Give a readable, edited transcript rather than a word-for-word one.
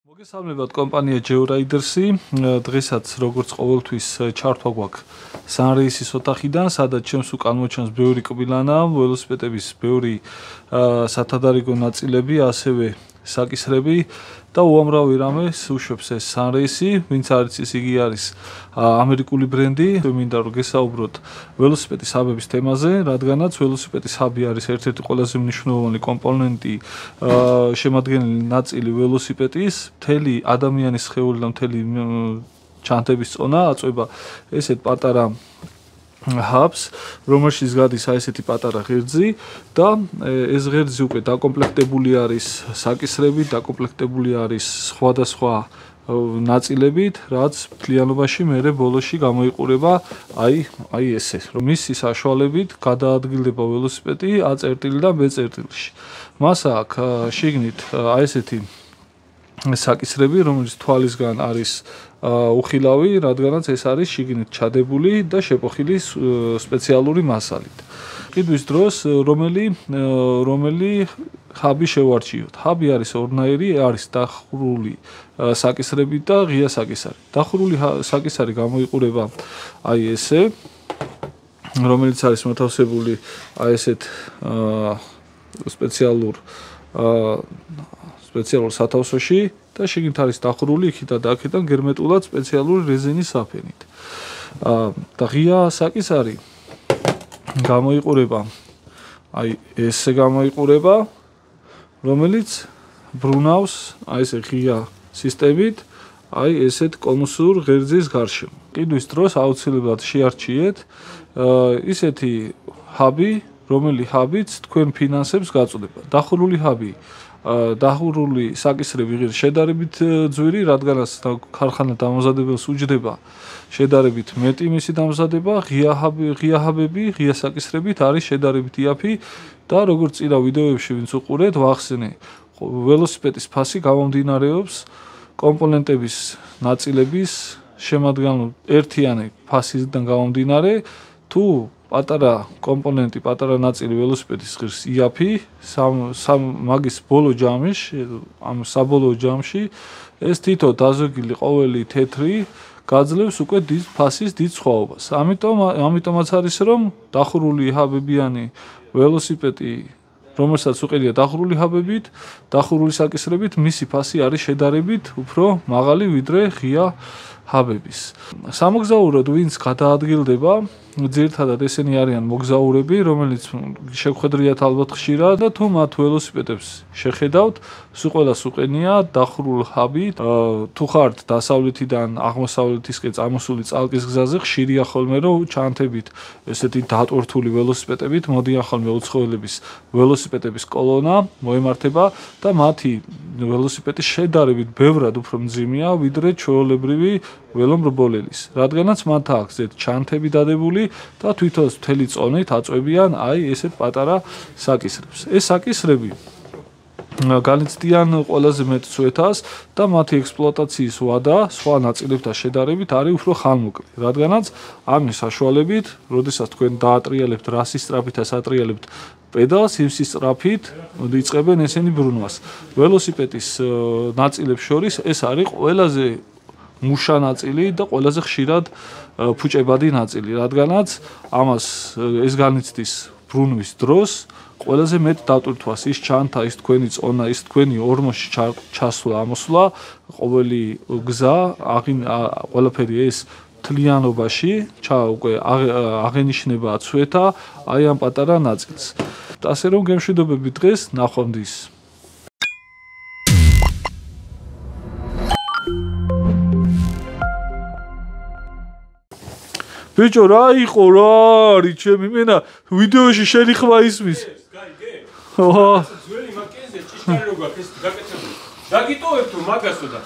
მოგესალმებათ კომპანია Georiders-ი. დღესაც როგორც ყოველთვის ჩართვა გვაქვს სანრეისის ოთახიდან, სადაც ჩემს უკან მოჩანს ბევრი კბილანა, ველოსიპედების ბევრი სათადარიგო ნაწილები, ასევე საკისრები და უამრავი რამეს უშვებს ეს სანრეისი, ვინც არ იცის, იგი არის ამერიკული ბრენდი. მინდა რომ გესაუბროთ ველოსიპედის ჰაბების თემაზე, რადგანაც ველოსიპედის ჰაბი არის ერთ-ერთი ყველაზე მნიშვნელოვანი კომპონენტი, შემადგენელი ნაწილი ველოსიპედის, მთელი ადამიანის სხეული და მთელი ჩანთების წონა აწვება ესეთ პატარა hubs, რომელშიც გადის ესეთი პატარა ღერძი და ეს ღერძი უკვე დაკომპლექტებული არის საკისრებით, დაკომპლექტებული არის სხვადასხვა ნაწილებით, რაც მთლიანობაში მერე ბოლოში გამოიყურება აი ესე, რომ მისი საშუალებით გადაადგილდება ველოსიპედი A წერტილი და B წერტილში. მას აქვს შიგნით ესეთი საკისრები, რომელიც თვალისგან არის უხილავი, რადგანაც ეს არის შიგნით ჩადებული და შეპოხილი სპეციალური მასალით. ყიდვის დროს რომელი ჰაბი შევარჩიოთ. ჰაბი არის ორნაირი, არის დახურული საკისრებით და ღია საკისარი. დახურული საკისარი გამოიყურება აი ესე, რომელიც არის მოთავსებული აი ესეთ სპეციალურ სათავსოში და შიგნით არის დახურული იქიდან და აქედან გერმეტულად სპეციალური რეზინის საფენით. და ღია საკისარი გამოიყურება აი ესე გამოიყურება, რომელიც ბრუნავს აი ესე ღია სისტემით აი ესეთ კონუსურ ღერძის გარშემო. ყიდვის დროს აუცილებლად შეარჩიეთ ისეთი ჰაბი, რომელი ჰაბიც თქვენ ფინანსებს გაწოდება. დახურული ჰაბი დახურული საკისრები ღირს შედარებით ძვირი, რადგანაც ქარხანა დამზადებელს უჯდება შედარებით მეტი მისი დამზადება, ღია ჰაბები, ღია საკისრებით არის შედარებით იაფი და როგორც წინა ვიდეოებში ვინც უყურეთ, ვახსენე, ველოსიპედის ფასი გამომდინარეობს კომპონენტების ნაწილების შემადგენლობ ერთიანი ფასისგან გამომდინარე, თუ პატარა კომპონენტი, პატარა ნაწილი ველოსიპედის ღირს იაფი, მაგის ბოლო ჯამში, ამ საბოლოო ჯამში ეს თითო დაზოგილი ყოველი თეთრი გაძლევს უკვე ფასის დიდ სხვაობას. ამიტომაც არის რომ დახურული ჰაბებიანი ველოსიპედი, რომელსაც უყიდია დახურული ჰაბებით, დახურული საკისრებით, მისი ფასი არის შედარებით უფრო მაღალი ვიდრე ღია ჰაბების. სამოგზაუროდ ვინც გადაადგილდება, ძირითადად ესენი არიან მოგზაურები, რომელიც შეგხვედრიათ ალბათ ხშირად და თუ მათ ველოსიპედებს შეხედავთ, ყველას უყენია დახურულ ჰაბით. თუ ხართ დასავლეთიდან აღმოსავლეთისკენ წამოსული წალკის გზაზე, ხშირია ხოლმე რომ ჩანთებით ესეთი დატვირთული ველოსიპედებით მოდიან ხოლმე უცხოელების ველოსიპედების კოლონა მოემართება და მათი ველოსიპედი შედარებით ბევრად უფრო მძიმეა ვიდრე ჩვეულებრივი ველომრბოლელის, რადგანაც მათ აქვს ჩანთები დადებული და თვითონ მთელი წონით აწვევიან აი ესეთ პატარა საკისრებს. ეს საკისრები განიცდიან ყველაზე მეტ წვეთას და მათი ექსპლუატაციის ვადა სხვა ნაწილებთან შედარებით არის უფრო ხანმოკლე, რადგანაც ამის საშუალებით, როდესაც თქვენ დაატრიალებთ რასის სწრაფითაც ატრიალებთ პედალს, იმის სწრაფით იწყებენ ესენი ბრუნვას. ველოსიპედის ნაწილებს შორის ეს არის ყველაზე მუშა ნაწილი და ყველაზე ხშირად ფუჭებადი ნაწილი, რადგანაც ამას ეს განიცდის ბრუნვის დროს ყველაზე მეტ დატვირთვას, ის ჩანთა, ის თქვენი წონა, ის თქვენი ორმოში ჩასვლა, ამოსვლა, ყოველი გზა, ყველაფერი ეს მთლიანობაში უკვე აღენიშნება ცვეთა აი ამ პატარა ნაწილს. ასე რომ გემშვიდობები დღეს, ნახვამდის. ბიჭო, რა იყო რა არის ჩემი მენა ვიდეოში შენი ხმა ისმის. ძველი მაკენზე ჭიშკარი რო გაქვს ეს გაკეთებული. დაგიტოვებ თუ მაგასო და